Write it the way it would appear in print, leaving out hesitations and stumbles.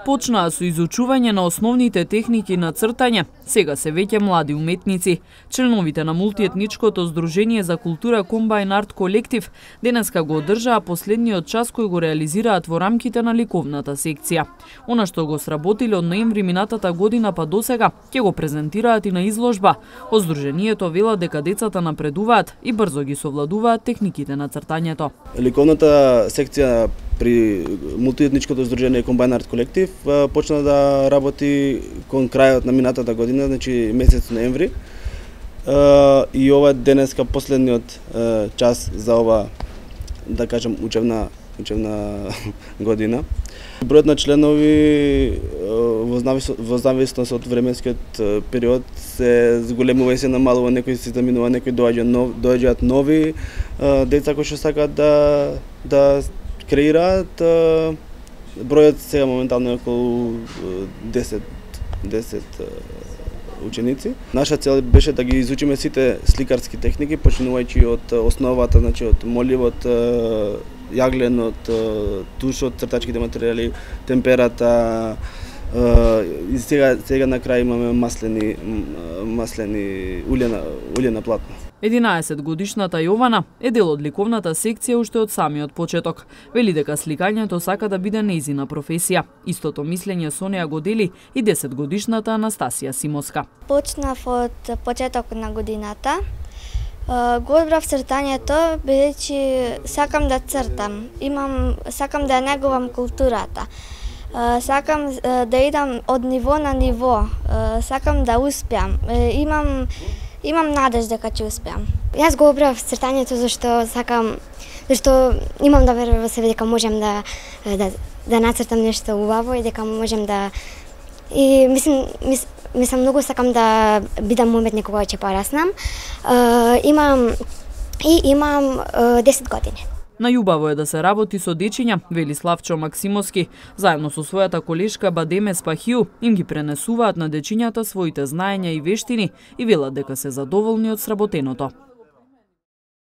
Почнаа со изучување на основните техники на цртање, сега се веќе млади уметници. Членовите на мултиетничкото здружение за култура Комбајн Арт Колектив денеска го одржаа последниот час кој го реализираат во рамките на ликовната секција. Она што го сработиле од ноември минатата година па досега, ќе го презентираат и на изложба. Од здружението велат дека децата напредуваат и брзо ги совладуваат техниките на цртањето. Ликовната секција при мултиетничкото здружение Комбајн Арт Колектив почна да работи кон крајот на минатата година, значи месец ноември. И ова денеска последниот час за ова, да кажам, учебна година. Бројот на членови во зависност од временскиот период се зголемува и се намалува, некои се заминува, некои доаѓаат нови деца кои што сакаат да креираат. Бројот сега моментално е околу 10 ученици. Наша цел беше да ги изучиме сите сликарски техники, почнувајќи од основата, значи од моливот, јагленот, тушот, цртачките материјали, температа, и сега на крај имаме маслени улјена платна. 11-годишната Јована е дел од ликовната секција уште од самиот почеток. Вели дека сликањето сака да биде нејзина професија. Истото мислење со неа го дели и 10-годишната Анастасија Симоска. Почнав од почеток на годината. Го одбрав цртањето бидејќи сакам да цртам. Сакам да негувам културата. Сакам да идам од ниво на ниво. Сакам да успеам. Имам надеж дека ќе успеам. Јас го одбрав цртањето зашто имам да верувам во себе дека можем да нацртам нешто убаво и дека можем да мислам многу сакам да бидам уметник кога ќе пораснам. Имам 10 години. Најубаво е да се работи со дечиња, вели Славчо Максимовски. Заедно со својата колешка Бадеме Спахиу им ги пренесуваат на дечињата своите знаења и вештини и велат дека се задоволни од сработеното.